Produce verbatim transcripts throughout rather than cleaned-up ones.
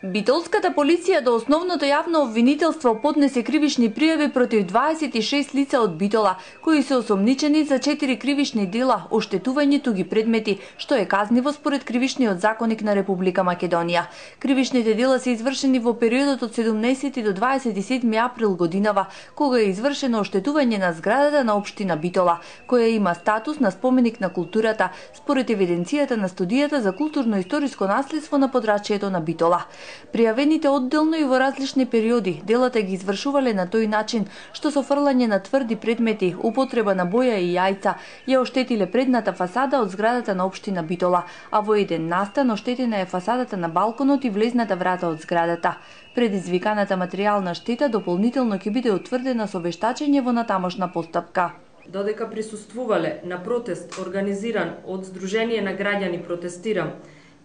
Битолската полиција до основното јавно обвинителство поднесе кривични пријави против дваесет и шест лица од Битола, кои се осомничени за четири кривични дела оштетување туги предмети, што е казниво според Кривичниот законник на Република Македонија. Кривичните дела се извршени во периодот од седумнаесети до дваесет и седми април годинава, кога е извршено оштетување на зградата на општина Битола, која има статус на споменик на културата според евиденцијата на студијата за културно-историско наследство на подрачјето на Битола. Пријавените одделно и во различни периоди делата ги извршувале на тој начин што со фрлање на тврди предмети, употреба на боја и јајца ја оштетиле предната фасада од зградата на општина Битола, а во еден настан оштетена е фасадата на балконот и влезната врата од зградата. Предизвиканата материјална штета дополнително ќе биде утврдена со вештачење во натамошна постапка. Додека присуствувале на протест организиран од Сдружение на граѓани Протестирам,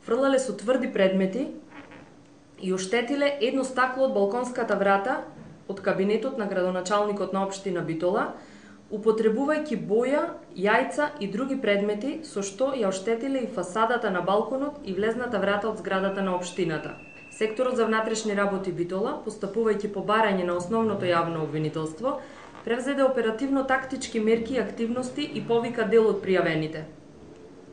фрлале со тврди предмети и оштетиле едно стакло од балконската врата од кабинетот на градоначалникот на општина Битола, употребувајќи боја, јајца и други предмети, со што ја оштетиле и фасадата на балконот и влезната врата од зградата на општината. Секторот за внатрешни работи Битола, постапувајќи по барање на основното јавно обвинителство, превзеде оперативно-тактички мерки и активности и повика дел од пријавените.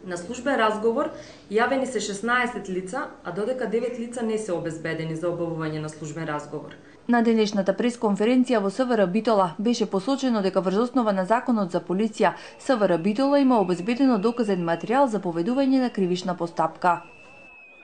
На службен разговор јавени се шеснаесет лица, а додека девет лица не се обезбедени за обавување на службен разговор. На денешната пресконференција во СВР Битола беше посочено дека врз основа на Законот за полиција, СВР Битола има обезбедено доказен материјал за поведување на кривична постапка.